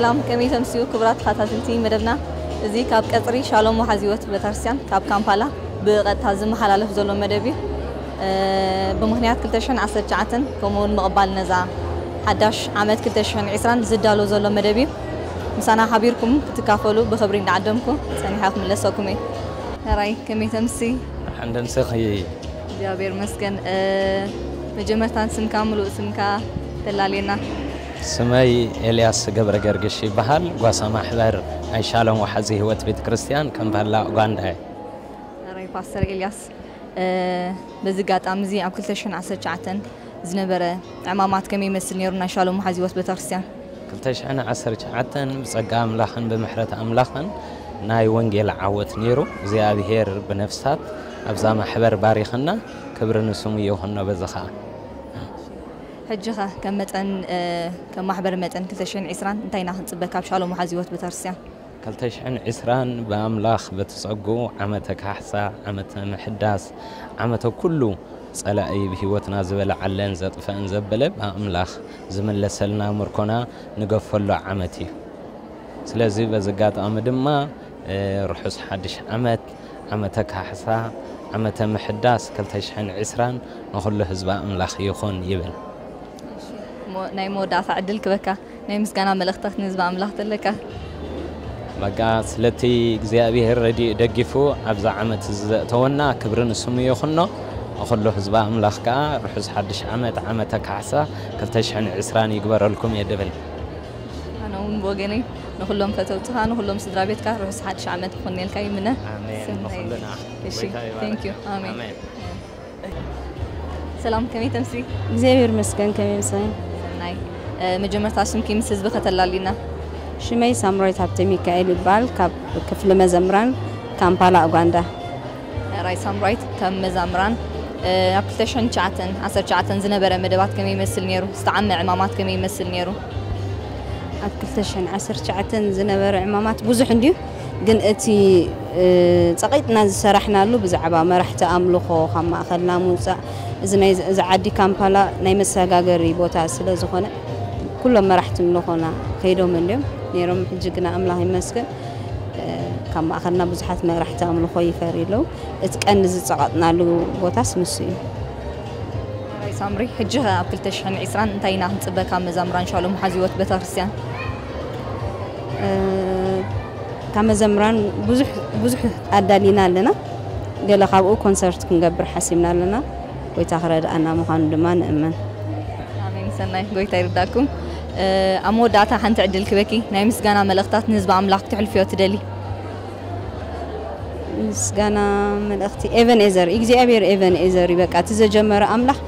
ሰላም፣ ከመይ ተምስዩ ክቡራት ተኸታተልቲ መደብና? እዚ ካብ ቀጽሪ ሻሎም ወሓዚ ህይወት ቤተክርስትያን ካብ ካምፓላ ብቐጥታ ዝመሓላለፍ ዘሎ መደብ እዩ። እ፣ ብምኽንያት ክልተ ሽሕን ዓሰርተ ትሽዓተን ከምኡ እውን ምቕባል ነዛ ሓዳሽ ዓመት ክልተ ሽሕን ዕስራን ዝዳሎ ዘሎ መደብ እዩ። ምሳና ሓቢርኩም ክትካፈሉ ብኽብሪ እንዳዓደምኩ ጸኒሐ ክምለሰኩም እየ። ሕራይ፣ ከመይ ተምሲ? ሓንደምስኺ። እግዚኣብሔር ይመስገን። እ፣ መጀመርታን ስምካ፣ ምሉእ ስምካ ተላልየና። ስመይ ኤልያስ ገብረ ገርግሽ ይበሃል። ጓሳ ማሕበር ናይ ሻሎም ወሓዚ ህይወት ቤተ ክርስቲያን ከምባላ ኡጋንዳ እየ። ሕራይ ፓስተር ኤልያስ፣ እ፣ በዚ ኣጋጣሚ እዚ ኣብ ክልተ ሽሕን ዓሰርተ ትሽዓተን ዝነበረ ዕማማት ከመይ ይመስል ነይሩ ናይ ሻሎም ወሓዚ ህይወት ቤተክርስትያን? ክልተ ሽሕን ዓሰርተ ትሽዓተን ብጸጋ ኣምላኽን ብምሕረት ኣምላኽን ናይ ወንጌል ዓወት ነይሩ። እግዚኣብሔር ብነፍሳት ኣብዛ ማሕበር ባሪኽና፣ ክብሪ ንስሙ ይኹኖ። በዚ ኸኣ ሕጂ ኸ ከም መጠን፣ እ፣ ከም ማሕበር መጠን ክልተ ሽሕን ዕስራን እንታይ ኢና ክንጽበ ካብ ሻሎም ወሓዚ ህይወት ቤተክርስትያን? ክልተ ሽሕን ዕስራን ብኣምላኽ በቲ ጸጉ ዓመተ ካሕሳ፣ ዓመተ ምሕዳስ፣ ዓመተ ኩሉ ጸላኢ ብህይወትና ዝበልዓለን ዘጥፍአን ዘበለ ብኣምላኽ ዝምለሰልና ምርኮና ንገፈሉ ዓመት እዩ። ስለዚ በዚ ኣጋጣሚ ድማ፣ እ፣ ርሑስ ሓድሽ ዓመት፣ ዓመተ ካሕሳ፣ ዓመተ ምሕዳስ ክልተ ሽሕን ዕስራን ንኹሉ ህዝቢ ኣምላኽ ይኹን ይብል። እሺ፣ ሞ-፣ ናይ መወዳእታ ዕድል ክበካ፣ ናይ ምስጋና መልእኽታት ንህዝቢ ኣምላኽ ተለካ? በቃ ስለቲ እግዚኣብሔር ረድኡ ደጊፉ ኣብዛ ዓመት እዚ ዘእተወና ክብሪ ንስሙ ይኹኖ። ንኹሉ ህዝቢ ኣምላኽ ከኣ ርሑስ ሓድሽ ዓመት፣ ዓመተ ካሕሳ ክልተ ሽሕን ዕስራን ይግበረልኩም እየ ድብል። ኣነ እውን ብወገነይ ንኹሎም ፈተውትኻ፣ ንኹሎም ስድራ ቤትካ ርሑስ ሓድሽ ዓመት ክኾነልካ ይምነ። ኣሜን። ሰናይ። ንኹልና። እሺ፣ ጎይታ ይባርክ። Thank you። ኣሜን። ኣሜን። ሰላም፣ ከመይ ተምሲ? እግዚኣብሔር ይመስገን፣ ከመይ ምሳይ? ሰናይ። እ፣ መጀመርታ ስምኪ ምስ ህዝቢ ከተላልዩና? ሽመይ ሳምራዊት ሃብተ ሚካኤል ይበሃል፣ ካብ ክፍሊ መዘምራን ካምፓላ ኡጋንዳ። ራይ ሳምራዊት፣ ካብ መዛምራን፣ እ፣ ኣብ ክልተ ሽሕን ትሽዓተን ዓሰርተ ትሽዓተን ዝነበረ መደባት ከመይ ይመስል ነይሩ? ዝተዓመ ዕማማት ከመይ ይመስል ነይሩ? ኣብ ክልተ ሽሕን ዓሰርተ ትሽዓተን ዝነበረ ዕማማት ብዙሕ እንድዩ፣ ግን እቲ፣ እ፣ ጸቒጥና ዝሰራሕናሉ ብዛዕባ መራሕቲ ኣምልኾ ካብ ማእኸልና ምውጻእ፣ እዚ ናይ፣ እዚ ዓዲ ካምፓላ ናይ መሰጋገሪ ቦታ ስለ ዝኾነ፣ ኩሎም መራሕቲ ኣምልኾና ከይዶም እንድዮም ነይሮም። ሕጂ ግና ኣምላኽ ይመስገን፣ እ፣ ካብ ማእኸልና ብዙሓት መራሕቲ ኣምልኾ ይፈርዩ ኣለዉ። እቲ ቀንዲ ዝጸቐጥናሉ ቦታስ ንሱ እዩ። ራይ ሳምሪ፣ ሕጂ ኸ ኣብ ክልተ ሽሕን ዕስራን እንታይ ኢና ክንጽበ ካብ መዛምራን ሻሎም ወሓዚ ህይወት ቤተክርስትያን? እ፣ ካብ መዘምራን ብዙሕ፣ ብዙሕ ኣዳሊና ኣለና። ገለ ካብኡ ኮንሰርት ክንገብር ሓሲብና ኣለና። ጎይታ ክረድኣና ምዃኑ ድማ ንእመን። ኣሜን። ሰናይ፣ ጎይታ ይርዳኩም። እ፣ ኣብ መወዳእታ ሓንቲ ዕድል ክበኪ፣ ናይ ምስጋና መልእኽታት ንህዝቢ ኣምላኽ ክተሕልፍዮ ትደሊ? ምስጋና መልእኽቲ ኤቨን ኤዘር፣ እግዚኣብሔር ኤቨን ኤዘር እዩ። በቃ እቲ ዘጀመረ ኣምላኽ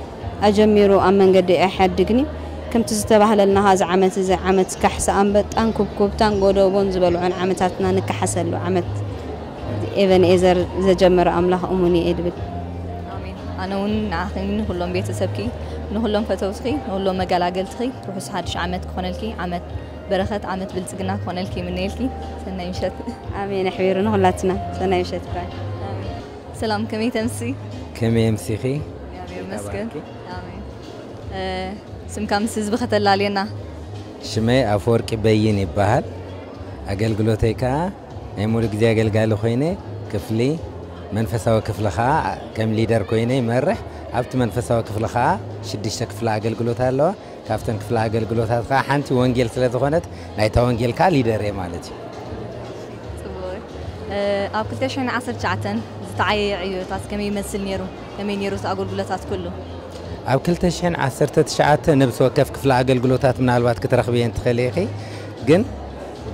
ኣጀሚሩ ኣብ መንገዲ ኣይሓድግን እዩ። ከምቲ ዝተባህለልና ኸዓ፣ እዚ ዓመት እዚ ዓመት ካሕሳ ኣንበጣን ኩብኩብታን ጎደቦን ዝበልዖን ዓመታትና ንከሓሰሉ ዓመት፣ ኤቨን ኤዘር ዘጀመረ ኣምላኽ እሙን እዩ ድብል። ኣሜን። ኣነ እውን ንዓኺ፣ ንኹሎም ቤተሰብኪ፣ ንኹሎም ፈተውትኺ፣ ንኹሎም መገላገልትኺ ርሑስ ሓድሽ ዓመት ክኾነልኪ፣ ዓመት በረኸት፣ ዓመት ብልጽግና ክኾነልኪ ይምነየልኪ። ሰናይ ምሸት። ኣሜን። ኣሕቢሩ ንኹላትና። ሰናይ ምሸት። ባይ። ኣሜን። ሰላም፣ ከመይ ተምሲ? ከመይ ኣምሲኺ? እግዚኣብሔር ይመስገን። ይባርኪ። ኣሜን። እ፣ ስምካ ምስ ህዝቢ ከተላልየና? ሽመይ ኣፈወርቂ በይን ይበሃል። ኣገልግሎተይ ከኣ ናይ ሙሉ ግዜ ኣገልጋሊ ኮይነ፣ ክፍሊ መንፈሳዊ ክፍሊ ከኣ ከም ሊደር ኮይነ ይመርሕ። ኣብቲ መንፈሳዊ ክፍሊ ከኣ ሽዱሽተ ክፍሊ ኣገልግሎት ኣለዋ። ካብተን ክፍሊ ኣገልግሎታት ከኣ ሓንቲ ወንጌል ስለ ዝኾነት፣ ናይታ ወንጌል ከኣ ሊደር እየ ማለት እዩ። ጽቡቕ። እ፣ ኣብ ክልተ ሽሕን ዓሰርተ ትሽዓተን ዝተዓየየ ዕዮታት ከመይ ይመስል ነይሩ? ከመይ ነይሩ እቲ ኣገልግሎታት ኩሉ? ኣብ ክልተ ሽሕን ዓሰርተ ትሽዓተ ነብሲ ወከፍ ክፍሊ ኣገልግሎታት ምናልባት ክትረኽብየን ትኽእሊ ኢኺ፣ ግን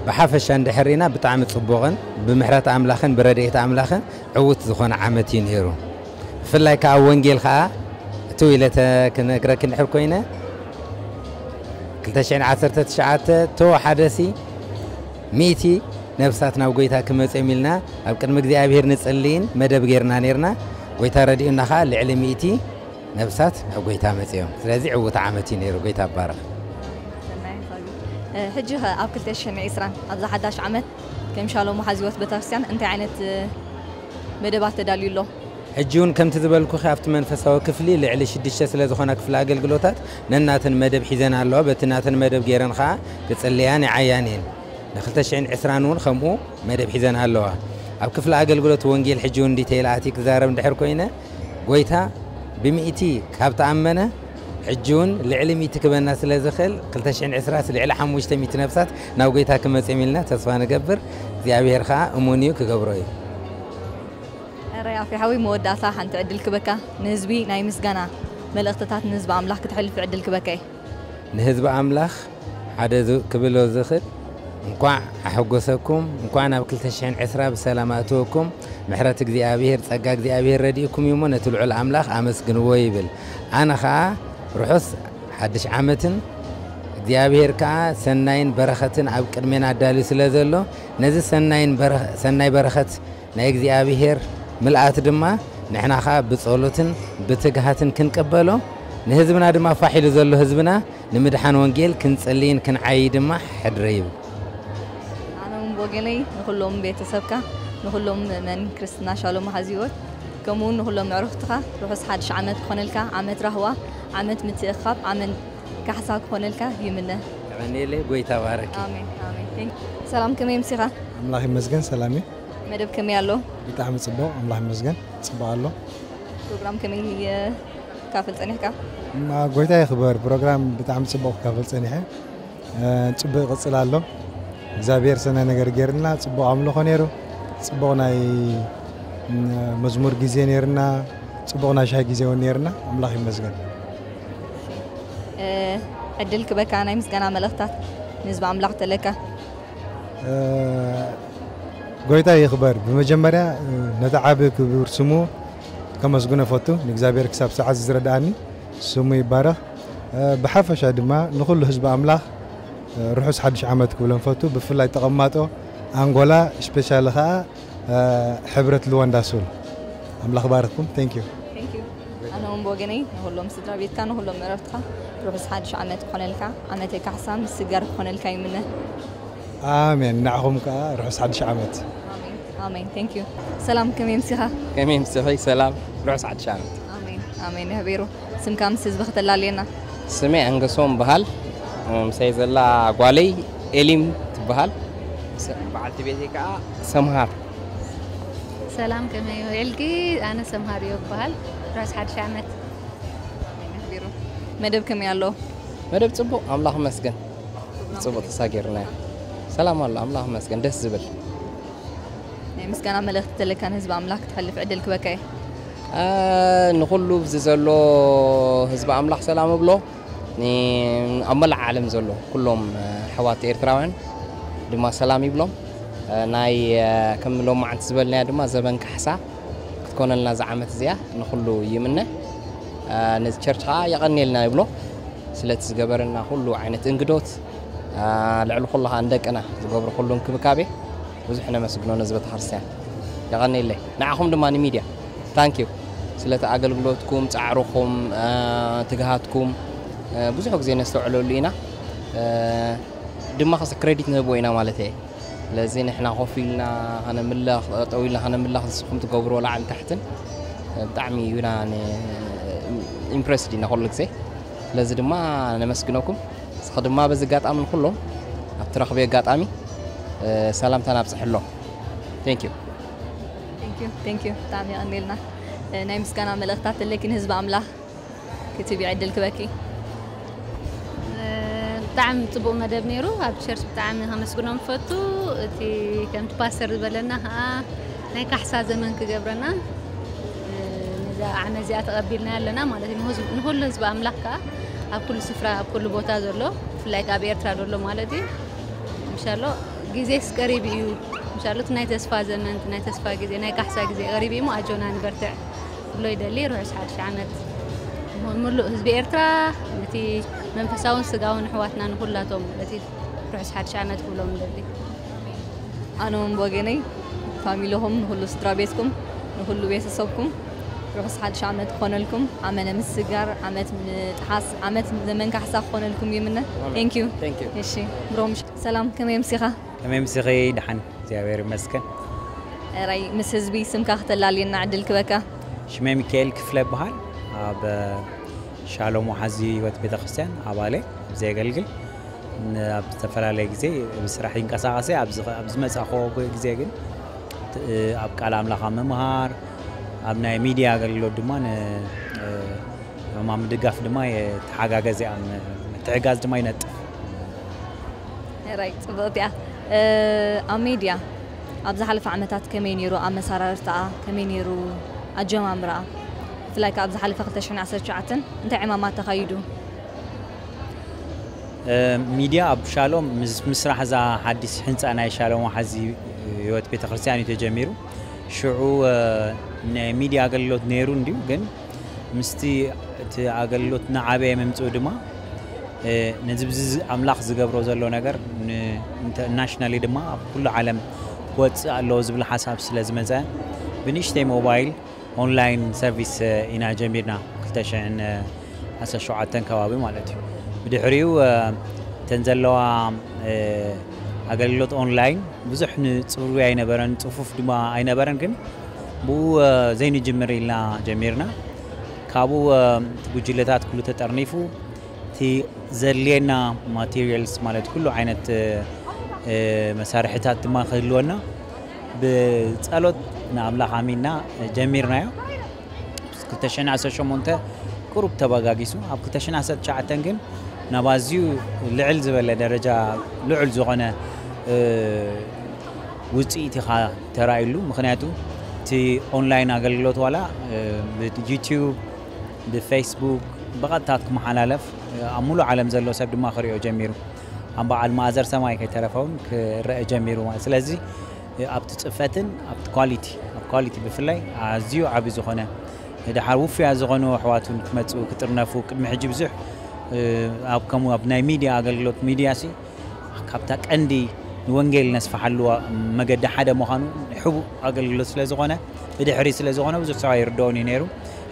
ብሓፈሻ እንድሕር ርኢና ብጣዕሚ ጽቡቕን ብምሕረት ኣምላኽን ብረድኤት ኣምላኽን ዕዉት ዝኾነ ዓመት እዩ ነይሩ። ብፍላይ ከኣ ወንጌል ከኣ እትው ኢለ ተ-፣ ክነግረኪ እንድሕር ኮይነ፣ ክልተ ሽሕን ዓሰርተ ትሽዓተ ተወሓደሲ ሚእቲ ነብሳት ናብ ጎይታ ክመጽኦም ኢልና ኣብ ቅድሚ እግዚኣብሔር ንጽልይን መደብ ጌርና ኔርና። ጎይታ ረዲኡና ኸኣ ልዕሊ ሚእቲ ነብሳት ናብ ጎይታ መጺኦም። ስለዚ ዕዉት ዓመት እዩ ነይሩ። ጎይታ ይባረኽ። ሰናይ ሓሳብ እዩ። እ፣ ሕጂ ኸ ኣብ ክልተ ሽሕን ዕስራን ኣብዛ ሓዳሽ ዓመት ከም ሻሎም ወሓዚ ህይወት ቤተክርስትያን እንታይ ዓይነት፣ እ፣ መደባት ተዳልዩ ኣሎ? ሕጂ እውን ከምቲ ዝበልኩኺ ኣብቲ መንፈሳዊ ክፍሊ ልዕሊ ሽዱሽተ ስለ ዝኾና ክፍሊ ኣገልግሎታት ነናተን መደብ ሒዘን ኣለዋ። በቲ ናተን መደብ ገይረን ኸዓ ክጽልያን ይዓያን እየን። ን2020 እውን ከምኡ መደብ ሒዘን ኣለዋ። ኣብ ክፍሊ ኣገልግሎት ወንጌል ሕጂ እውን ዲተይል ኣትየ ክዛረብ እንድሕር ኮይነ፣ ጎይታ ብሚእቲ ካብ ተኣመነ፣ ሕጂ እውን ልዕሊ ሚእቲ ክበና ስለ ዝኽእል፣ ክልተ ሽሕን ዕስራን ልዕሊ ሓሙሽተ ሚእቲ ነፍሳት ናብ ጎይታ ክመጽኦም ኢልና ተስፋ ንገብር። እግዚኣብሔር ኸዓ እሙን እዩ፣ ክገብሮ እዩ። ራይ ኣፌ ሓዊ መወዳእታ ሓንቲ ዕድል ክበካ፣ ንህዝቢ ናይ ምስጋና መልእኽትታት ንህዝቢ ኣምላኽ ክትሕልፍ ዕድል ክበካ እዩ። ንህዝቢ ኣምላኽ ሓደ ዝ- ክብሎ ዝኽእል፣ እንኳዕ ኣሐጎሰኩም፣ እንኳዕ ናብ ክልተ ሽሕን ዕስራ ብሰላም ኣእተወኩም። ምሕረት እግዚኣብሔር፣ ጸጋ እግዚኣብሔር ረዲእኩም እዩ እሞ ነቲ ልዑል ኣምላኽ ኣመስግንዎ ይብል። ኣነ ኸኣ ርሑስ ሓድሽ ዓመትን እግዚኣብሔር ከኣ ሰናይን በረኸትን ኣብ ቅድሜና ኣዳልዩ ስለ ዘሎ፣ ነዚ ሰናይን በረ- ሰናይ በረኸት ናይ እግዚኣብሔር ምልኣት ድማ ንሕና ኸኣ ብጸሎትን ብትግሃትን ክንቅበሎ፣ ንህዝብና ድማ ፋሕ ኢሉ ዘሎ ህዝብና ንምድሓን ወንጌል ክንጽልይን ክንዓይይ ድማ ሕድረ ይብል። ኣነ እውን ብወገነይ ንኹሎም ቤተሰብካ፣ ንኹሎም ምእመን ክርስትና ሻሎም መሓዚ ህይወት፣ ከምኡ እውን ንኹሎም ኣዕሩኽትኻ ርሑስ ሓድሽ ዓመት ክኾነልካ፣ ዓመት ራህዋ፣ ዓመት ምትእኽኻብ፣ ዓመት ካሕሳ ክኾነልካ ይምነ። የቐንየለይ፣ ጎይታ ባረኪ። ኣሜን ኣሜን። Thank you። ሰላም፣ ከመይ ኣምሲኻ? ኣምላኽ ይመስገን፣ ሰላም እዩ። መደብ ከመይ ኣሎ? ብጣዕሚ ጽቡቕ፣ ኣምላኽ ይመስገን፣ ጽቡቕ ኣሎ። ፕሮግራም ከመይ እ፣ ትካፈል ጸኒሕካ? እማ ጎይታ ይኽበር፣ ፕሮግራም ብጣዕሚ ጽቡቕ ክካፈል ጸኒሐ። እ፣ ጽቡቕ ይቕጽል ኣሎ። እግዚኣብሔር ሰናይ ነገር ገይርልና፣ ጽቡቕ ኣምልኾ ነይሩ፣ ጽቡቕ ናይ እ፣ መዝሙር ግዜ ነይርና፣ ጽቡቕ ናይ ሻሂ ግዜ እውን ነይርና። ኣምላኽ ይመስገን። እ፣ ዕድል ክበካ ናይ ምስጋና መልእኽታት ንህዝቢ ኣምላኽ ተለካ። እ፣ ጎይታ ይኽበር። ብመጀመርያ እ፣ ነቲ ዓቢ ክቡር ስሙ ከመስግኖ ፈቱ። ንእግዚኣብሔር ክሳብ ሰዓት ዝረድኣኒ ስሙ ይባረኽ። እ፣ ብሓፈሻ ድማ ንኹሉ ህዝቢ ኣምላኽ እ፣ ርሑስ ሓድሽ ዓመት ክብሎም ፈቱ። ብፍላይ ተቐማጦ ኣንጎላ፣ ስፔሻሊ ኸኣ እ፣ ሕብረት ሉዋንዳ ሱል። ኣምላኽ ባርኽኩም። Thank you። Thank you። ኣነ እውን ብወገነይ ንኹሎም ስድራ ቤትካ፣ ንኹሎም መረብትካ ርሑስ ሓድሽ ዓመት ክኾነልካ፣ ዓመተ ካሕሳ ምስጋር ክኾነልካ ይምነ። ኣሜን። ንዓኹም ከኣ ርሑስ ሓድሽ ዓመት። ኣሜን። Thank you። ሰላም፣ ከመይ ኣምሲኻ? ከመይ ኣምሲኺ? ሰላም፣ ርሑስ ሓድሽ ዓመት። ኣሜን ኣሜን። የሕቤሩ። ስምካ ምስ ህዝቢ ከተላልየና። ስሜ ኣንገሶም በሃል። ምሳይ ዘላ ጓለይ ኤሊም ትበሃል። ስ- በዓልቲ ቤተይ ከዓ ሰምሃር። ሰላም፣ ከመይ ውዒልኪ? ኣነ ሰምሃር እዮ እበሃል። ርሑስ ሓድሽ ዓመት። ኣሜን። የሕቤሩ። መደብ ከመይ ኣሎ? መደብ ጽቡቕ፣ ኣምላኽ ይመስገን። ጽቡቕ ተሳጊርና። ሰላም ኣሎ፣ ኣምላኽ ይመስገን። ደስ ዝብል። ናይ ምስጋና መልእኽቲ ተለካ ንህዝቢ ኣምላኽ ክትሕልፍ ዕድል ክበካ እየ። አ፣ ንኹሉ እዚ ዘሎ ህዝቢ ኣምላኽ ሰላም እብሎ። ን- ኣብ መላእ ዓለም ዘሎ ኩሎም ኣሕዋት ኤርትራውያን ድማ ሰላም ይብሎም። አ፣ ናይ አ፣ ከም ሎማዓንቲ ዝበልናያ ድማ ዘበን ካሕሳ ክትኮነልና እዛ ዓመት እዚኣ ንኹሉ ይምነ። አ፣ ነዚ ቸርች ከዓ የቐንየልና ይብሎ። ስለቲ ዝገበረና ኩሉ ዓይነት እንግዶት፣ አ፣ ልዕሊ ኩሉ ከዓ ንደቅና ዝገብሮ ኩሉ እንክብካቤ ብዙሕ ነመስግኖ ነዚ ቤተክርስትያን። የቐንየለይ። ንዓኹም ድማ ንሚድያ ታንክ ዩ ስለቲ ኣገልግሎትኩም፣ ጻዕርኹም፣ አ፣ ትግሃትኩም፣ አ፣ ብዙሕ ግዜ ነስተውዕለሉ ኢና። አ፣ ድማ ከስ ክሬዲት ንህብዎ ኢና ማለት እየ። ስለዚ ንሕና ኮፍ ኢልና ከነምልኽ፣ ጠጠው ኢልና ከነምልኽ ንስኹም ትገብርዎ ላዕሊ ታሕትን ብጣዕሚ ዩና ኢምፕረስድ ኢና ኩሉ ግዜ። ስለዚ ድማ ነመስግነኩም። እስኺ ድማ በዚ ኣጋጣሚ ንኩሎም ኣብቲ ረኽቢ ኣጋጣሚ እ፣ ሰላምታና ኣብፅሕሎም። Thank you። Thank you፣ thank you። ብጣዕሚ የቐንየልና። እ፣ ናይ ምስጋና መልእኽታት ኣለኪ ንህዝቢ ኣምላኽ ክትህቢ ዕድል ክበኪ። ብጣዕሚ ጽቡቕ መደብ ነይሩ። ኣብ ቸርች ብጣዕሚ ከመስግኖም ፈቱ። እቲ ከምቲ ፓስተር ዝበለና ከዓ ናይ ካሕሳ ዘመን ክገብረና፣ እ፣ ነዛ ዓመት እዚኣ ተቐቢልና ኣለና ማለት እዩ። ንህዝብ- ንኹሉ ህዝቢ ኣምላኽ ከዓ ኣብ ኩሉ ስፍራ ኣብ ኩሉ ቦታ ዘሎ ብፍላይ ከዓ ኣብ ኤርትራ ዘሎ ማለት እዩ። ምሻሎ ግዜስ ቀሪቡ እዩ። ምሻሎ እቲ ናይ ተስፋ ዘመን፣ እቲ ናይ ተስፋ ግዜ፣ ናይ ካሕሳ ግዜ ቀሪቡ እዩ እሞ ኣጆና ንበርትዕ። ክብሎ ይደሊ። ርሑስ ሓድሽ ዓመት ንኹ- ምሉእ ህዝቢ ኤርትራ፣ ነቲ መንፈሳውን ስጋውን ኣሕዋትና ንኹላቶም በቲ ርሑስ ሓድሽ ዓመት ክብሎም ይደሊ። ኣነ እውን ብወገነይ ፋሚልኹም፣ ንኹሉ ስድራ ቤትኩም፣ ንኹሉ ቤተሰብኩም ርሑስ ሓድሽ ዓመት ክኾነልኩም። ዓመነ ምስጋር፣ ዓመት ምጥሓስ፣ ዓመት ዘመን ካሕሳ ክኾነልኩም ይምነ። Thank you። Thank you። እሺ ብሮም፣ ሰላም፣ ከመይ ኣምሲኻ? ከመይ ኣምሲኺ? ደሓን እግዚኣብሔር ይመስገን። ራይ ምስ ህዝቢ ስምካ ክተላልየና ዕድል ክበካ። ሽመይ ሚካኤል ክፍለ ይበሃል። ኣብ ሻሎም ወሓዚ ህይወት ቤተክርስትያን ኣባለ ኣብ ዘየገልግል፣ ኣብ ዝተፈላለየ ግዜ ብስራሕ ይንቀሳቐሰ። ኣብ ዝመፃእኮ ግዜ ግን ኣብ ቃል ኣምላኽ ኣብ ምምሃር፣ ኣብ ናይ ሚድያ ኣገልግሎት ድማ ንማም ድጋፍ ድማ የተሓጋገዘ ኣብ ምትሕጋዝ ድማ ይነጥፍ። ራይ ጽብቕቲ እያ። ኣብ ሜድያ ኣብ ዝሓለፈ ዓመታት ከመይ ነይሩ ኣመሰራርታኣ፣ ከመይ ነይሩ ኣጀማምራኣ? ብፍላይ ከኣ ኣብ ዝሓለፈ ክልተ ሽሕን ዓሰርተ ትሽዓተን እንታይ ዕማማት ተኻይዱ? ሚድያ ኣብ ሻሎም ምስ ምስራሕ እዛ ሓዲስ ሕንፃ ናይ ሻሎም ወሓዚ ህይወት ቤተክርስትያን እዩ ተጀሚሩ። ሽዑ ናይ ሚድያ ኣገልግሎት ነይሩ እንድዩ፣ ግን ምስቲ እቲ ኣገልግሎት እናዓበየ ምምፅኡ ድማ ነዚ ብዚ ኣምላኽ ዝገብሮ ዘሎ ነገር ናሽናሊ ድማ ኣብ ኩሉ ዓለም ክወፅእ ኣለዎ ዝብል ሓሳብ ስለ ዝመፀ ብንእሽተይ ሞባይል ኦንላይን ሰርቪስ ኢና ጀሚርና ክልተ ሽሕን ዓሰርተ ሸውዓተን ከባቢ ማለት እዩ። ብድሕሪኡ እተን ዘለዋ ኣገልግሎት ኦንላይን ብዙሕ ንፅሩይ ኣይነበረን፣ ፅፉፍ ድማ ኣይነበረን፣ ግን ብኡ ዘይንጅምር ኢልና ጀሚርና። ካብኡ እቲ ጉጅለታት ኩሉ ተጠርኒፉ እቲ ዘድልየና ማቴሪያልስ ማለት ኩሉ ዓይነት መሳርሕታት ድማ ክህልወና ብፀሎት ንኣምላኽ ኣሚንና ጀሚርናዮ። ክልተ ሽሕን ዓሰርተ ሸሞንተ ቁሩብ ተበጋጊሱ፣ ኣብ ክልተ ሽሕን ዓሰርተ ትሽዓተን ግን ናብ ኣዝዩ ልዕል ዝበለ ደረጃ ልዑል ዝኾነ ውፅኢት ኢኻ ተራእዩሉ። ምክንያቱ እቲ ኦንላይን ኣገልግሎት ዋላ ብዩቲዩብ ብፌስቡክ ብቐጥታ ክመሓላለፍ ኣብ ሙሉእ ዓለም ዘሎ ሰብ ድማ ክሪኦ ጀሚሩ። ኣብ በዓል ማእዘር ሰማይ ከይተረፈውን ክረአ ጀሚሩ ማለት። ስለዚ ኣብቲ ፅፈትን ኣብቲ ኳሊቲ ኣብ ኳሊቲ ብፍላይ ኣዝዩ ዓቢ ዝኾነ ድሓር ውፉያት ዝኾኑ ኣሕዋት እውን ክመፅኡ ክጥርነፉ ቅድሚ ሕጂ ብዙሕ ኣብ ከምኡ ኣብ ናይ ሚድያ ኣገልግሎት ሚድያ ሲ ካብታ ቀንዲ ንወንጌል ነስፍሓሉ መገዲ ሓደ ምዃኑ ሕቡእ ኣገልግሎት ስለ ዝኾነ ብድሕሪ ስለ ዝኾነ ብዙሕ ሰብ ኣይርድኦን እዩ ነይሩ።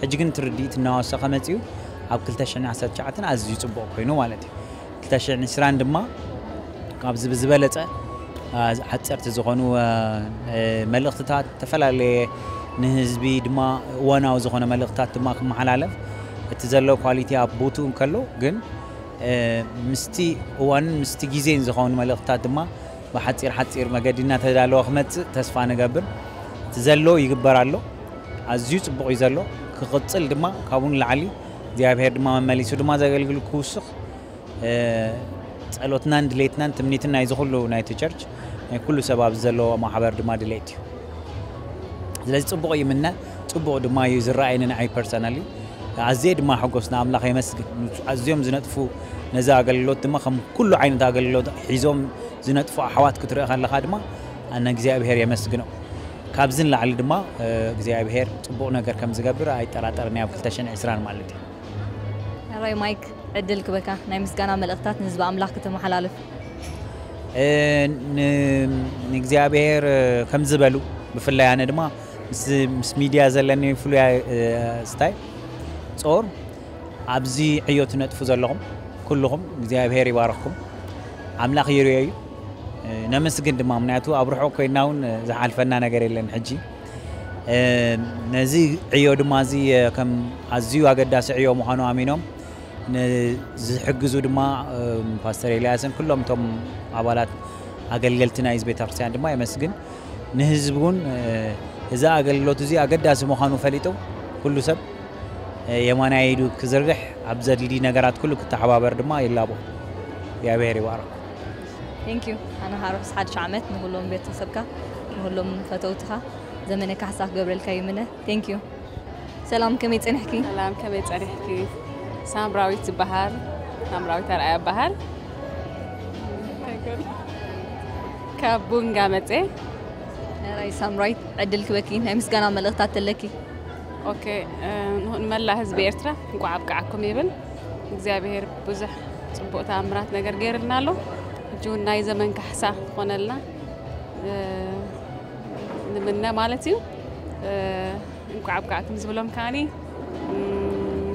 ሕጂ ግን እቲ ርድኢት እናወሰኸ መፂኡ ኣብ ክልተ ሽሕን ዓሰርተ ትሽዓተን ኣዝዩ ፅቡቕ ኮይኑ ማለት እዩ። ክልተ ሽሕን ዕስራን ድማ ካብዚ ብዝበለፀ ሓፀርቲ ዝኾኑ መልእኽትታት ዝተፈላለየ ንህዝቢ ድማ እዋናዊ ዝኾነ መልእኽትታት ድማ ክመሓላለፍ እቲ ዘሎ ኳሊቲ ኣብ ቦትኡ እንከሎ ግን ምስቲ እዋንን ምስቲ ግዜን ዝኾኑ መልእኽትታት ድማ ብሓፂር ሓፂር መገዲ እናተዳለወ ክመፅእ ተስፋ ንገብር። እቲ ዘሎ ይግበር ኣሎ፣ ኣዝዩ ፅቡቕ እዩ ዘሎ። ክቕፅል ድማ ካብኡ ንላዕሊ እግዚኣብሔር ድማ መመሊሱ ድማ ዘገልግል ክውስኽ ጸሎትናን ድሌትናን ትምኒትን ናይዚ ኩሉ ናይቲ ቸርች ናይ ኩሉ ሰብ ኣብዚ ዘለዎ ማሕበር ድማ ድሌት እዩ። ስለዚ ጽቡቕ ይምነ፣ ጽቡቕ ድማ እዩ ዝረኣየኒ ንዓይ ፐርሰናሊ። ኣዝየ ድማ ሕጎስ ንኣምላኽ የመስግን። ኣዝዮም ዝነጥፉ ነዚ ኣገልግሎት ድማ ከም ኩሉ ዓይነት ኣገልግሎት ሒዞም ዝነጥፉ ኣሕዋት ክትርኢ ከለኻ ድማ ኣነ እግዚኣብሔር የመስግኖ። ካብዚ ንላዕሊ ድማ እግዚኣብሔር ጽቡቕ ነገር ከም ዝገብር ኣይጠራጠርን ኣብ ክልተ ሽሕን ዕስራን ማለት እዩ። ራይ ማይክ ዕድል ክበካ ናይ ምስጋና መልእኽታት ንህዝቢ ኣምላኽ ክተመሓላልፍ። ንእግዚኣብሔር ከም ዝበሉ ብፍላይ ኣነ ድማ ምስ ሚድያ ዘለኒ ፍሉይ ስታይ ጾር ኣብዚ ዕዮ ትነጥፉ ዘለኹም ኩልኹም እግዚኣብሔር ይባረኽኩም። ኣምላኽ ይርዮ እዩ። ነመስግን ድማ ምክንያቱ ኣብ ርሑቕ ኮይና እውን ዝሓልፈና ነገር የለን ሕጂ ነዚ ዕዮ ድማ እዚ ከም ኣዝዩ ኣገዳሲ ዕዮ ምዃኑ ኣሚኖም ንዝሕግዙ ድማ ፓስተር ኤልያስን ኩሎም እቶም ኣባላት ኣገልገልቲ ናይ ቤተክርስትያን ድማ የመስግን። ንህዝቢ እውን እዚ ኣገልግሎት እዚ ኣገዳሲ ምዃኑ ፈሊጡ ኩሉ ሰብ የማናይ ኢዱ ክዝርግሕ ኣብ ዘድሊ ነገራት ኩሉ ክተሓባበር ድማ ይላቦ። እግዚኣብሔር ይባረክ። ቴንክ ዩ ኣነ ርሑስ ሓድሽ ዓመት ንኩሎም ቤተሰብካ ንኩሎም ፈተውትኻ ዘመነ ካሕሳ ክገብረልካ ይምነ። ቴንክ ዩ። ሰላም ከመይ ጸኒሕኪ? ሰላም ከመይ ጸኒሕኪ? ሳምራዊት ዝበሃል ሳምራዊት ኣርኣያ ይበሃል። ካብ ቡንጋ መጼ። ራይ ሳምራዊት ዕድል ክበኪ ናይ ምስጋና መልእኽታት ተለኪ። ኦኬ ንመላእ ህዝቢ ኤርትራ እንቋዕ ኣብቅዓኩም ይብል። እግዚኣብሔር ብዙሕ ጽቡቕ ተኣምራት ነገር ገይርልና ኣሎ። ሕጂ እውን ናይ ዘመን ካሕሳ ዝኾነልና ንምነ ማለት እዩ። እንቋዕ ኣብቃዕኩም ዝብሎም ከዓኒ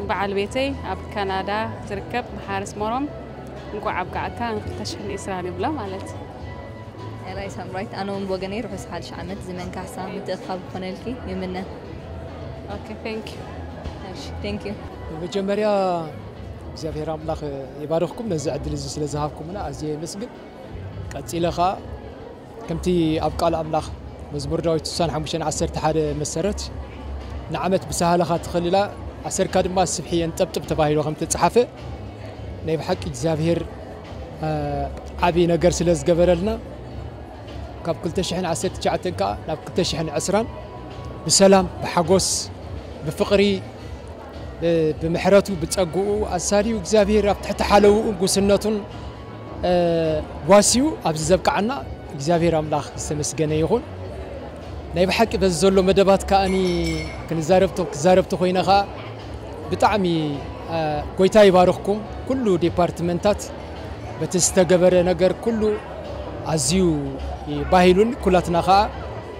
በዓል ቤተይ ኣብ ካናዳ ዝርከብ መሓሪ ኣስመሮም እንቋዕ ኣብቃዕካ ን ክልተ ሽሕን ዕስራን ይብሎ ማለት እዩ። ራይ ሳምራዊት ኣነ እውን ብወገነይ ርሑስ ሓድሽ ዓመት ዘመን ካሕሳ ምትእኽኻብ ክኾነልኪ ይምነ። Okay, thank you. እሺ፣ thank you። መጀመርያ እግዚኣብሔር ኣምላኽ ይባርኽኩም፣ ነዚ ዕድል እዚ ስለ ዝሃብኩምና ኣዝየ የመስግን። ቀጺለ ኸኣ ከምቲ ኣብ ቃል ኣምላኽ መዝሙር ዳዊት ስሳን ሓሙሽተን ዓሰርተ ሓደ መሰረት፣ ንዓመት ብሳህልኻ ትኸልላ፣ ኣሰርካ ድማ ስብሒ የንጠብጥብ ተባሂሉ ከም ተጻሓፈ፣ ናይ ብሓቂ እግዚኣብሔር ዓብዪ ነገር ስለ ዝገበረልና፣ ካብ ክልተ ሽሕን ዓሰርተ ትሽዓተን ከኣ ናብ ክልተ ሽሕን ዕስራን ብሰላም ብሓጎስ ብፍቕሪ፣ ብምሕረቱ ብጸግኡ ኣሳልዩ እግዚኣብሔር ኣብ ትሕቲ ሓለውኡን ጉስነቱን ዋስዩ ኣብዚ ዘብቅዓና እግዚኣብሔር ኣምላኽ ዝተመስገነ ይኹን። ናይ ብሓቂ በዚ ዘሎ መደባት ከኣኒ ክንዛረብ ተ- ክዛረብ ተኾይነ ከኣ ብጣዕሚ ጎይታ ይባርኽኩም። ኩሉ ዲፓርትመንታት በቲ ዝተገበረ ነገር ኩሉ ኣዝዩ ባሂሉን ኩላትና ከኣ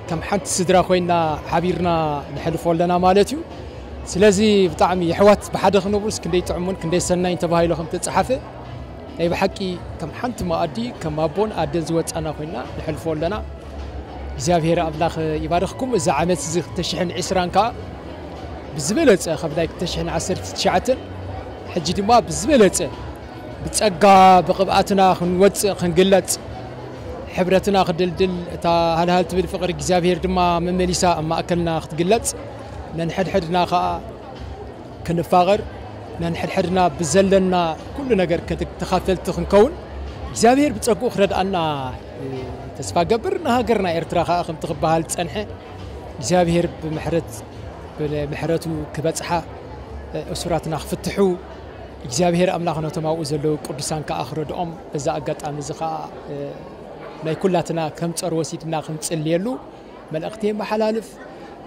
ከም ሓንቲ ስድራ ኮይና ሓቢርና ንሕልፎ ኣለና ማለት እዩ። ስለዚ ብጣዕሚ የሕዋት ብሓደ ክነብሩስ ክንደይ ጥዕሙን ክንደይ ሰናይን ተባሂሉ ከም ተጻሓፈ ናይ ብሓቂ ከም ሓንቲ መኣዲ ከም ኣቦን ኣደን ዝወጻና ኮይና ንሕልፎ ኣለና። እግዚኣብሔር ኣምላኽ ይባርኽኩም። እዚ ዓመት እዚ ክልተ ሽሕን ዕስራን ከኣ ብዝበለጸ ካብ ናይ ክልተ ሽሕን ዓሰርተ ትሽዓተን ሕጂ ድማ ብዝበለጸ ብጸጋ ብቕብኣትና ክንወጽእ ክንግለጽ ሕብረትና ክድልድል እታ ሃልሃል ትብል ፍቕሪ እግዚኣብሔር ድማ መመሊሳ ኣብ ማእከልና ክትግለጽ ነንሕድሕድና ከኣ ክንፋቐር ነንሕድሕድና ብዘለና ኩሉ ነገር ከት- ተኻፈልቲ ክንከውን እግዚኣብሔር ብጸግኡ ክረድኣና ተስፋ ገብር። ንሃገርና ኤርትራ ከኣ ከምቲ ክበሃል ዝጸንሐ እግዚኣብሔር ብምሕረት ብምሕረቱ ክበጽሓ እሱራትና ክፍትሑ እግዚኣብሔር ኣምላኽ ነቶም ኣብኡ ዘለዉ ቅዱሳን ከኣ ክረድኦም በዛ ኣጋጣሚ እዚ ከኣ ናይ ኩላትና ከም ጸር ወሲድና ክንጽልየሉ መልእኽቲ የመሓላልፍ።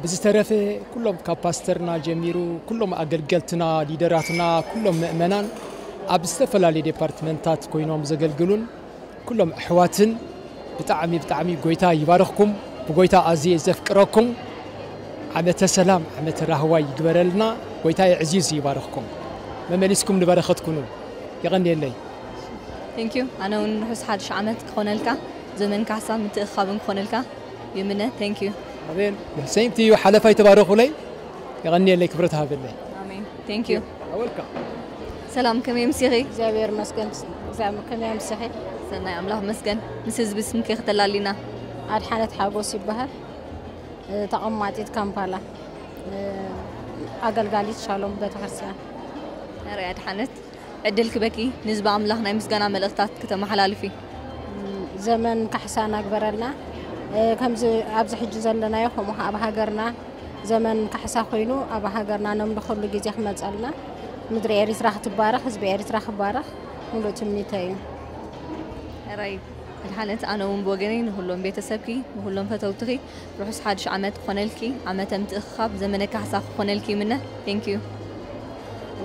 ብዝተረፈ ኩሎም ካብ ፓስተርና ጀሚሩ ኩሎም ኣገልገልትና ሊደራትና ኩሎም ምእመናን ኣብ ዝተፈላለዩ ዲፓርትመንታት ኮይኖም ዘገልግሉን ኩሎም ኣሕዋትን ብጣዕሚ ብጣዕሚ ጎይታ ይባርኽኩም። ብጎይታ ኣዝየ ዘፍቅረኩም ዓመተ ሰላም ዓመተ ራህዋ ይግበረልና። ጎይታ የዕዚዙ ይባርኽኩም። መመሊስኩም ንበረኸት ኩኑ። የቐንየለይ። Thank you። ኣነ እውን ርሑስ ሓድሽ ዓመት ክኾነልካ፣ ዘመን ካሕሳ ምትእኻብን ክኾነልካ ይምነ። Thank you። ኣሜን። Same to you። ሓለፋይ ተባረኹለይ። የቐንየለይ፣ ክብረት ሃበለይ። ኣሜን። Thank you። Welcome። ሰላም፣ ከመይ ኣምሲኺ? እግዚኣብሔር ይመስገን። እግዚኣብሔር ከመይ ኣምሲኺ? ሰናይ ኣምላኽ መስገን። ምስ ህዝቢ ስምኪ ከተላሊና። ኣድሓነት ሓጎስ ይበሃል። ተቐማጢት ካምፓላ፣ ኣገልጋሊት ሻሎም ቤተክርስትያን። ርያ ኣድሓነት፣ ዕድል ክበኪ ንህዝቢ ኣምላኽ ናይ ምስጋና መልእኽታት ክተመሓላልፊ። ዘመን ካሕሳ ናግበረልና። ከምዚ ኣብዚ ሕጂ ዘለናዮ ከምኡ ኣብ ሃገርና ዘመን ካሕሳ ኮይኑ ኣብ ሃገርና ነምልኸሉ ግዜ ክመፀልና፣ ምድሪ ኤሪትራ ክትባረኽ፣ ህዝቢ ኤሪትራ ክባረኽ ሙሉእ ትምኒተይ እዩ። ራይ ኣድሓነት፣ ኣነ እውን ብወገነይ ንኩሎም ቤተሰብኪ ንኩሎም ፈተውትኺ ርሑስ ሓድሽ ዓመት ክኾነልኪ፣ ዓመተ ምትእኽኻብ ዘመነ ካሕሳ ክኾነልኪ ይምነ። Thank you።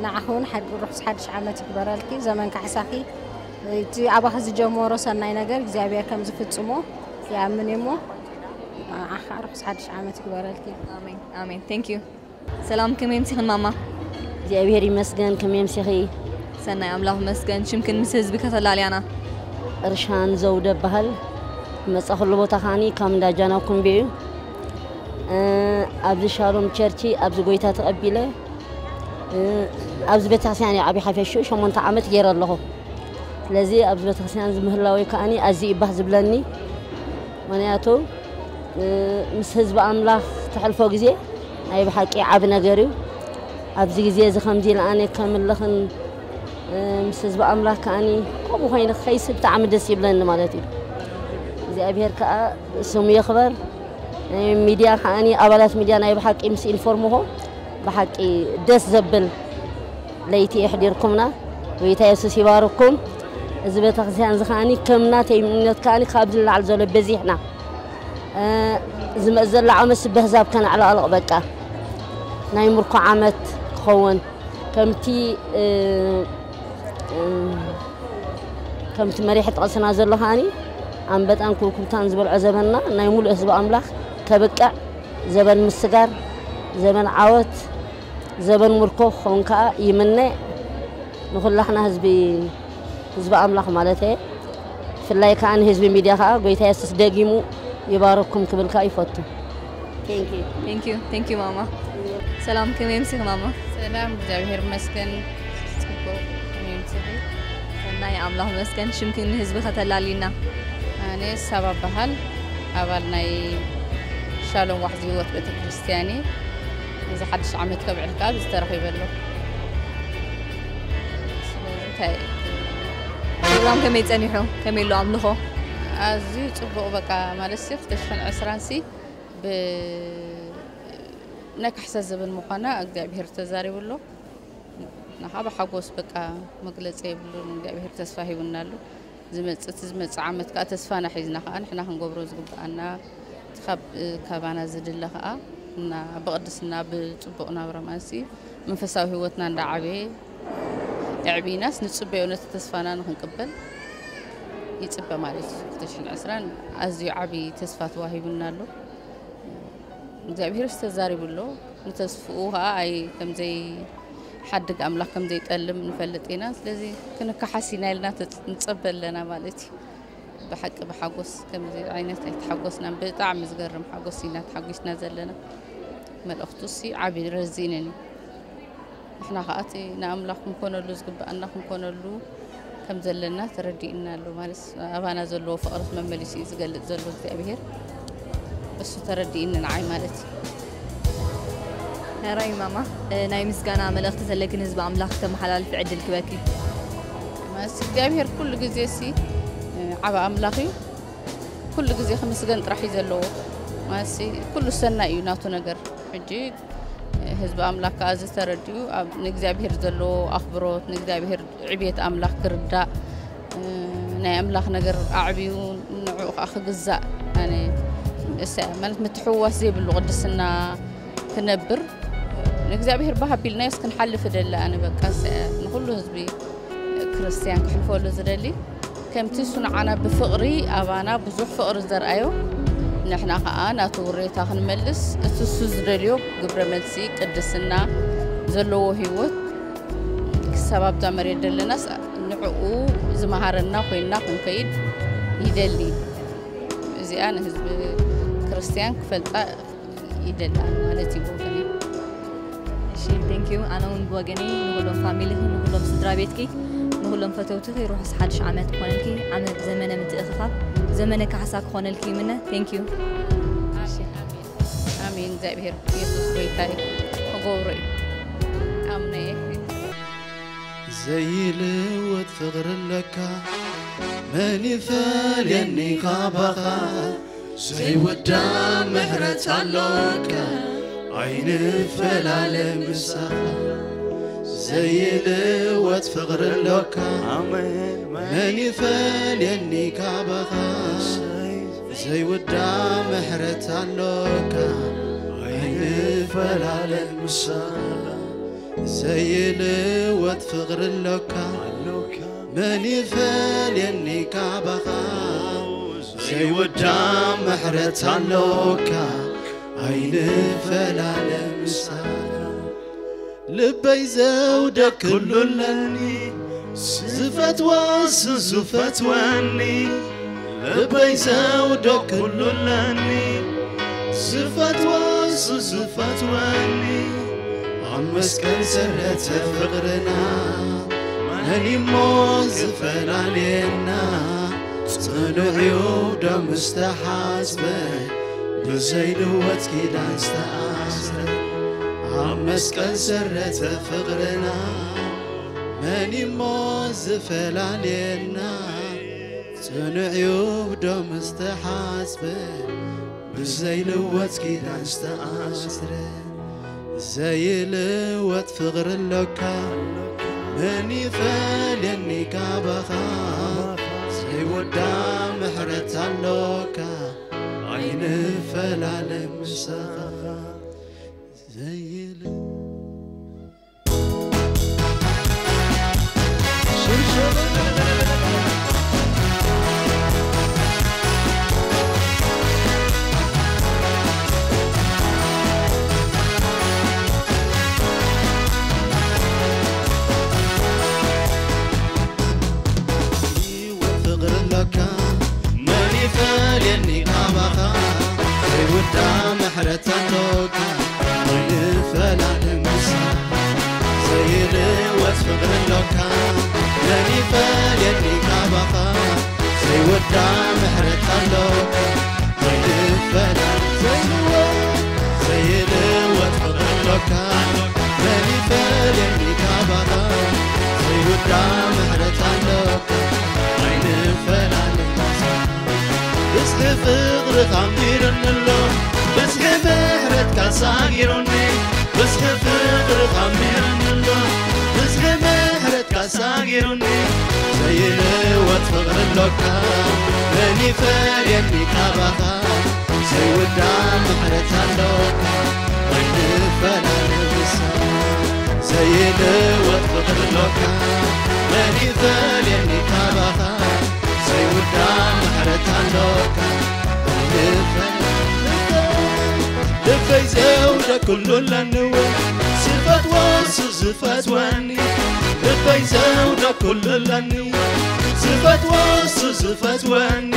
ንዓኺ እውን ሓድ- ርሑስ ሓድሽ ዓመት ይግበረልኪ። ዘመን ካሕሳኺ እቲ ኣባኺ ዝጀመሮ ሰናይ ነገር እግዚኣብሔር ከም ዝፍጽሞ ይኣምን እየ እሞ ንዓኻ ርሑስ ሓድሽ ዓመት ይግበረልኪ። ኣሜን ኣሜን። Thank you። ሰላም፣ ከመይ ኣምሲኽን ማማ? እግዚኣብሔር ይመስገን። ከመይ ኣምሲኺ? ሰናይ ኣምላኽ ይመስገን። ሽምክን ምስ ህዝቢ ከተላልያና። እርሻን ዘውደ በሃል። መጻኹሉ ቦታ ከዓኒ ካብ እንዳ ጃና ኩምቤ እዩ። እ፣ ኣብዚ ሻሎም ቸርቺ ኣብዚ ጎይታ ተቐቢለ፣ እ፣ ኣብዚ ቤተክርስትያን እዩ ዓብዪ ሓፈሽኡ ሸሞንተ ዓመት ገይረ ኣለኹ። ስለዚ ኣብዚ ቤተክርስትያን እዚ ምህላወይ ከዓኒ ኣዝዩ እዩ ባህ ዝብለኒ። ምኽንያቱ ምስ ህዝቢ ኣምላኽ ተሕልፎ ግዜ ናይ ብሓቂ ዓቢ ነገር እዩ። ኣብዚ ግዜ እዚ ከምዚ ኢለ ኣነ ከምልኽን ምስ ህዝቢ ኣምላኽ ከኣኒ ከምኡ ኮይነ ክኸይስ ብጣዕሚ ደስ ይብለኒ ማለት እዩ። እግዚኣብሔር ከኣ ስሙ ይኽበር። ሚድያ ከኣኒ ኣባላት ሚድያ ናይ ብሓቂ ምስ ኢንፎርምኹም ብሓቂ ደስ ዘብል ለይቲ የሕዲርኩምና። ጎይታ የሱስ ይባርኩም። እዚ ቤተክርስትያን እዚ ከኣኒ ከም ናተይ እምነት ከኣኒ ካብዚ ንላዕሊ ዘሎ በዚሕና። ዝመጽእ ዘሎ ዓመት በህዛብ ከነዕለቕልቕ በቃ ናይ ምርኮ ዓመት ክኸውን ከምቲ ከምቲ መሪሕ ጥቕስና ዘሎ ከኣኒ ኣንበጣን ኩብኩብታን ዝበልዖ ዘበንና ናይ ሙሉእ ህዝቢ ኣምላኽ ከብቅዕ ዘበን ምስጋር ዘበን ዓወት ዘበን ምርኮ ክኸውን ከኣ ይምነ። ንኹላሕና ህዝቢ ህዝቢ ኣምላኽ ማለት እየ። ብፍላይ ከኣ ንህዝቢ ሚድያ ከኣ ጎይታ የሱስ ደጊሙ ይባረኩም ክብል ከኣ ይፈቱ። Thank you። Thank you። Thank you ማማ። ሰላም፣ ከመይ ኣምሲኺ ማማ? ሰላም፣ እግዚኣብሔር ይመስገን። ጽቡቕ፣ ከመይ ኣምሲኺ? ሰናይ፣ ኣምላኽ ይመስገን። ሽምኪ ንህዝቢ ከተላልይና? ኣነ ሳባ በሃል፣ ኣባል ናይ ሻሎም ዋሕዚ ህይወት ቤተ ክርስቲያን እየ። እዚ ሓድሽ ዓመት ከብዕል ከኣ ኣብዚ ተረኺበ ኣለኹ። ስለዚ እንታይ ፕሮግራም ከመይ ጸኒሑ? ከመይ ኣሎ ኣምልኾ? ኣዝዩ ጽቡቕ፣ በቃ ማለት ሲ ክልተ ሽሕን ዕስራን ሲ ብ ናይ ካሕሳ ዘበን ምዃና እግዚኣብሔር ተዛሪቡ ኣሎ። ንኻ ብሓጎስ በቃ መግለጺ የብሉን። እግዚኣብሔር ተስፋ ሂቡና ኣሎ። ዝመጽእ እቲ ዝመጽእ ዓመት ከኣ ተስፋና ሒዝና ከኣ ንሕና ክንገብሮ ዝግብኣና እቲ ካብ ካባና ዝድለ ከኣ እና ብቕድስና ብጽቡቕ ናብራ ማንሲ መንፈሳዊ ህይወትና እንዳዓበየ የዕቢናስ ንጽበዮ ነቲ ተስፋና ንኽንቅበል ይጽበ ማለት እዩ። ክልተ ሽሕን ዕስራን ኣዝዩ ዓቢ ተስፋ ተዋሂቡና ኣሎ። እግዚኣብሔር ዝተዛሪቡ ኣሎ። ንተስፍኡ ከዓ ኣይ ከምዘይ ሓድግ ኣምላኽ ከምዘይጠልም ንፈልጥ ኢና። ስለዚ ክንከሓስ ኢና ኢልና ተጽ- ንጸበ ኣለና ማለት እዩ። ብሓቂ ብሓጎስ ከምዚ ዓይነት ኣይተሓጎስናን። ብጣዕሚ ዝገርም ሓጎስ ኢና ተሓጒስና ዘለና። መልእኽቱ ሲ ዓቢ ረዚንን እዩ። ንሕና ከዓ እቲ ንኣምላኽ ክንኮነሉ ዝግብኣና ክንኮነሉ ከም ዘለና ተረዲእና ኣሎ። ማለት ኣባና ዘለዎ ፍቕሪ መመሊሱ እዩ ዝገልጽ ዘሎ እግዚኣብሔር። እሱ ተረዲእኒ ንዓይ ማለት እዩ። ሕራይ ማማ፣ እ፣ ናይ ምስጋና መልእኽቲ ዘለኪ ንህዝቢ ኣምላኽ ክተመሓላልፊ ዕድል ክበኪ። ማለት እግዚኣብሔር ኩሉ ግዜ ሲ እ፣ ዓቢ ኣምላኽ እዩ። ኩሉ ግዜ ክምስገን ጥራሕ እዩ ዘለዎ። ማለት ሲ ኩሉ ሰናይ እዩ ናቱ ነገር። ሕጂ እ፣ ህዝቢ ኣምላኽ ከዓ እዚ ተረዲኡ ኣብ ንእግዚኣብሔር ዘለዎ ኣኽብሮት ንእግዚኣብሔር ዕብየት ኣምላኽ ክርዳእ እ፣ ናይ ኣምላኽ ነገር ኣዕብዩ ንዕኡ ከዓ ክግዛእ ኣነ እሰ ማለት ምትሕውዋስ ዘይብሉ ቅድስና ክነብር ንእግዚኣብሔር ባህ ኣቢልናዮስ ክንሓልፍ እደሊ ኣነ በቃ እሰ ንኹሉ ህዝቢ ክርስትያን ክሕልፈሉ ዝደሊ ከምቲ እሱ ንዓና ብፍቕሪ ኣባና ብዙሕ ፍቕሪ ዘርኣዮ ንሕና ከዓ ናቱ ውሬታ ክንመልስ እቲ እሱ ዝደልዮ ግብረ መልሲ ቅድስና ዘለዎ ህይወት ክሳብ ኣብዛ መሬት ደለናስ ንዕኡ ዝመሃረና ኮይንና ክንከይድ ይደሊ። እዚኣ ንህዝቢ ክርስትያን ክፈልጣ ይደሊ ማለት እዩ ብወገነይ። እሺ፣ thank you። ኣነ እውን ብወገነይ ንኹሎም ፋሚሊኺ፣ ንኹሎም ስድራ ቤትኪ፣ ንኹሎም ፈተውትኺ ርሑስ ሓድሽ ዓመት ክኾነልኪ፣ ዓመት ዘመነ ምትእኽኻብ፣ ዘመነ ካሕሳ ክኾነልኪ ይምነ። Thank you። ኣሜን። እግዚኣብሔር የሱስ ጎይታይ ክገብሮ እዩ ኣምነየ። ዘይልወጥ ፍቕሪ ኣለካ፣ መን ይፈልየኒ ካባኻ? ዘይውዳእ ምሕረት ኣሎካ፣ ኣይንፈላለ ምሳኻ። ዘይልወጥ ፍቕሪ ኣሎካ፣ ኣሜን። መን ይፈልየኒ ካባኻ? ዘይውዳእ ምሕረት ኣሎካ፣ ኣይንፈላለ ምሳኻ። ዘይልወጥ ፍቕሪ ኣሎካ፣ መን ይፈልየኒ ካባኻ? ዘይውዳእ ምሕረት ኣሎካ፣ ኣይንፈላለ ምሳኻ። ልበይ ዘውደ ኩሉ ኣለኒ፣ ዝፈትዋ እሱ ዝፈትወኒ። ልበይ ዘውደ ኩሉ ኣለኒ፣ ዝፈትዋ እሱ ዝፈትወኒ። ኣብ መስቀል ሰረተ ፍቕርና፣ መን እሞ ዝፈላልየና? ጽኑዕ እዩ ደሙ ዝተሓጽበ፣ ብዘይልወጥ ኪዳን ዝተኣስረ። ኣብ መስቀል ሰረተ ፍቕርና፣ መን እሞ ዝፈላልየና? ጽኑዕ እዩ ብደሙ ዝተሓጽበ፣ ብዘይልወጥ ኪዳን ዝተኣስረ። ዘይልወጥ ፍቕሪ ኣሎካ፣ መን ይፈልየኒ ካባኻ? ዘይወዳ ምሕረት ኣሎካ፣ ኣይንፈላለ ምሳኻ። ዘይል ሕይወት ፍቕሪ ኣሎካ፣ መን ይፈልየኒ ካባኻ? ዘይውዳ ምሕረት ኣሎካ፣ ኣይንፈላለ ይልወስ ፍቕሪ ኣሎካ፣ መን ይፈልየኒ ካባኻ? ዘይወዳ ምሕረት ኣሎካ፣ ኣይንፈላለ። ዘይልወስ፣ ዘይልወስ ፍቕሪ ኣሎካ፣ መን ይፈልየኒ ካባኻ? ዘይወዳ ምሕረት ኣሎካ፣ ኣይንፈላለ። ብዝሒ ፍቕርኻ ኣንቢሩኒ ኣሎ፣ ብዝሒ ምሕረትካ ሳጊሩኒ። ብዝሒ ፍቕርኻ ኣንቢሩኒ ኣሎ፣ ብዝሒ ምሕረትካ ሳጊሩኒ። ዘይልወጥ ፍቕሪ ኣሎካ፣ መን ይፈልየኒ ካባኻ? ዘይውዳእ ምሕረት ኣሎካ፣ ኣይንፈላለ ምሳኻ። ዘይልወጥ ፍቕሪ ኣሎካ፣ መን ይፈልየኒ ካባኻ? ዘይውዳእ ምሕረት ኣሎካ፣ ኣይንፈላለ። ልበይ ዘውደ ኩሉ ኣለንዎ፣ ዝፈትዎ እሱ ዝፈትወኒ። ልበይ ዘውደ ኩሉ ኣለኒ፣ ዝፈትዎ እሱ ዝፈትወኒ።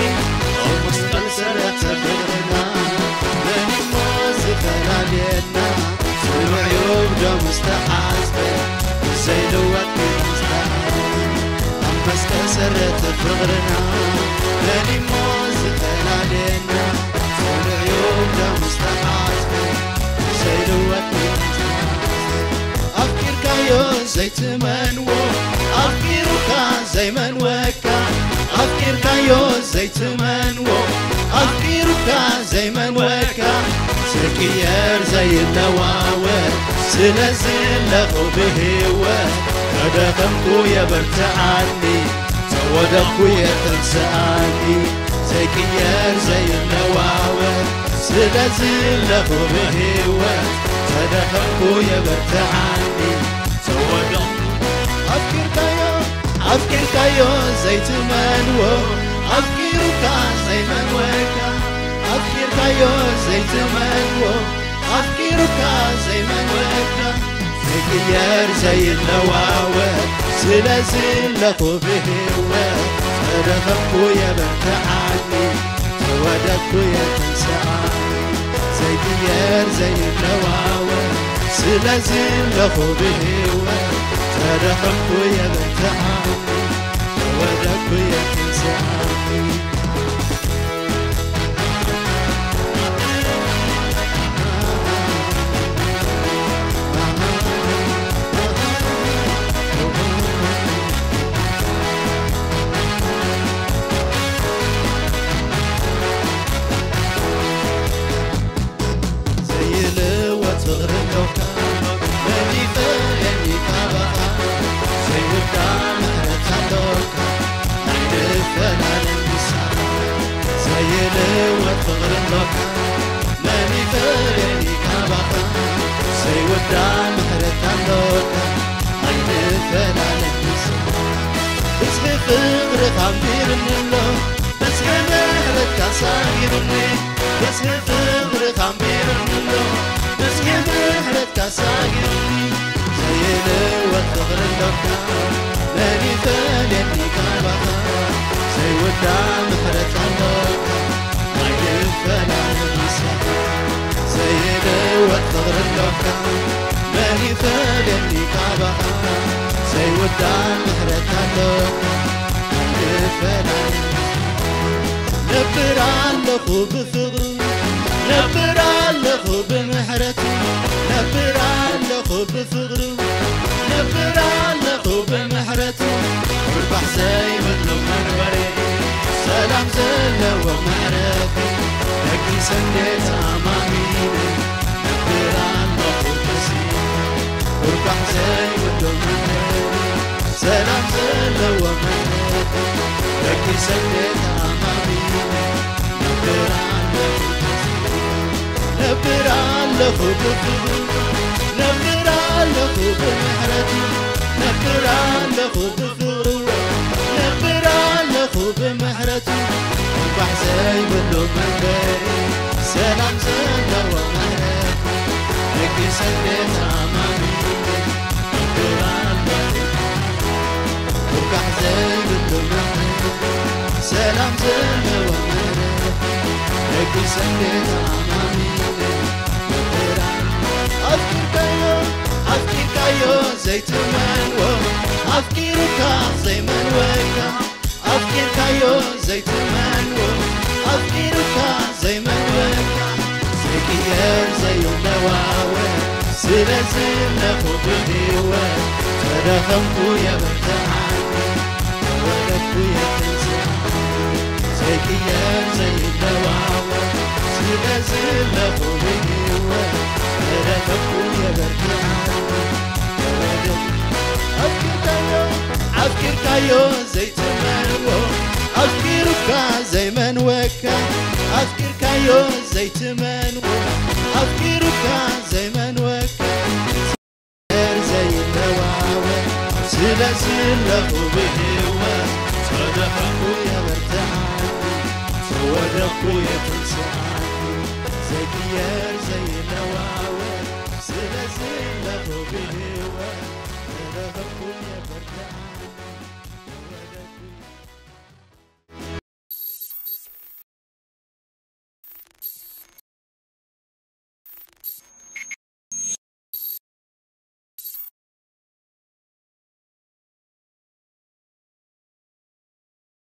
ኣብ መስቀል ሰረተ ፍቕርና፣ መን እሞ ዝፈላልየና? ጽኑዕ እዩ ብደሙ ዝተሓዝበ፣ ዘይልወጥ ኪዳን ዝተሓዝበ። ኣብ መስቀል ሰረተ ፍቕርና፣ መን እሞ ዝፈላልየና? ጽኑዕ እዩ ብደሙ ዝተሓዝበ፣ ዘይልወጥ ኪዳን ዝተሓዝበ። ኣፍቂርካዮ ዘይትመንዎ፣ ኣፍቂሩካ ዘይመንወካ። ኣፍቂርካዮ ዘይትመንዎ፣ ኣፍቂሩካ ዘይመንወካ። ዘይቅየር ዘይለዋወጥ፣ ስለዚ ኣለኹ ብህይወት። ከደኸምኩ የበርትዓኒ፣ ተወደቕኩ የተንስኣኒ። ዘይቅየር ዘይለዋወጥ፣ ስለዚ ኣለኹ ብህይወት። ከደኸምኩ የበርትዓኒ፣ ተወደቕኩ። ኣፍቂርካዮ፣ ኣፍቂርካዮ ዘይትመንዎ፣ ኣፍቂሩካ ዘይመንወካ። ኣፍቂርካዮ ዘይትመንዎ፣ ኣፍቂሩካ ዘይመንወካ። ዘይቅየር ዘይለዋወጥ፣ ስለዚ ኣለኹ ብህይወት። ከደኸምኩ የበርትዓኒ፣ ተወደቕኩ የተንስኣኒ። ዘይቅየር ዘይለዋወጥ፣ ስለዚ ኣለኹ ብህይወት። ከደኸምኩ የበርትዓኒ፣ ተወደቕኩ የተንስኣኒ። ዘይልወጥ ፍቕሪ ኣሎካ፣ መን ይፈልየኒ ካባኻ? ዘይውዳእ ምሕረት ኣሎካ፣ ኣይንፈላለን ምሳኻ። ዘይልወጥ ፍቕሪ ኣሎካ፣ መን ይፈልየኒ ካባኻ? ዘይውዳእ ምሕረት ኣሎካ፣ ኣይንፈላለን ምሳኻ። ብዝሒ ፍቕርኻ ኣንቢሩኒ ኣሎ፣ ብዝሒ ምሕረትካ ሳጊሩኒ። ብዝሒ ፍቕርኻ ኣንቢሩኒ ኣሎ፣ ብዝሒ ምሕረትካ ሳጊሩኒ። ዘይልወጥ ፍቕሪ ኣሎካ፣ መን ይፈልየኒ ካባኻ? ዘይውዳእ ምሕረት ኣሎካ፣ ኣይንፈላለን ምሳኻ። ዘይልወጥ ፍቕሪ ኣሎካ፣ መን ይፈልየኒ ካባኻ? ዘይውዳእ ምሕረት ኣሎካ፣ ኣይንፈላለን። ነብር ኣለኹ ብፍቕሩ፣ ነብር ኣለኹ ብምሕረቱ፣ ነብር ኣለኹ ብፍቕሩ፣ ነብር ኣለኹ ብምሕረቱ። ርባሕ ዘይብሉ መንበሪ፣ ሰላም ዘለዎ መዕረፊ፣ ደቂሰ እንዴ ተኣማሚነ፣ ነብር ኣለኹ በዚ ርባሕ ዘይብሉ መንበሪ፣ ሰላም ዘለዎ መዕረፊ፣ ደቂሰ እንዴ ተኣማሚነ፣ ነብር ኣለኹ በዚ ነብር ኣለኹ ብፍቕሩ፣ ነብር ኣለኹ ብምሕረቱ፣ ነብር ኣለኹ ብፍቕሩ፣ ነብር ኣለኹ ብምሕረቱ። እንቋዕ ዘይብሉ መንበሪ፣ ሰላም ዘለዎ መዕረፊ፣ ደቂሰ እንዴ ተኣማሚነ፣ ነብር ኣለኹ። ውጋሕ ዘይብሉ መዕረፊ፣ ሰላም ዘለዎ መዕረፊ፣ ደቂሰ እንዴ ተኣማሚነ፣ ነብር ኣፍቂርካዮ፣ ኣፍቂርካዮ ዘይትመንዎ ኣፍቂሩካ ዘይመንወካ ኣፍቂርካዮ ዘይትመንዎ ኣፍቂሩካ ዘይመንወካ ዘይቅየር ዘይለዋወጥ ስለ ዘለኹ ብህይወት ተደኸምኩ የበርትዓኒ ተወለድኩ የትንስኣኒ ዘይቅየር ዘይለዋወጥ ስለ ዘለኹ ብህይወት ተደኸምኩ የበርትዓኒ ተወለድኩ ኣፍቂርካዮ ኣፍቂርካዮ ዘይትመንዎ ኣፍቂሩካ ዘይመንወካ ኣፍቂርካዮ ዘይትመንዎ ኣፍቂሩካ ዘይመንወካ ዘይለዋወጥ ስለ ዘለኹ ብህይወት ተደኸምኩ የበርትዓኒ ተወደቕኩ የትንስኣኒ ዘይቅየር ዘይለዋወጥ ስለ ዘለኹ ብህይወት ተደኸምኩ የበርትዓኒ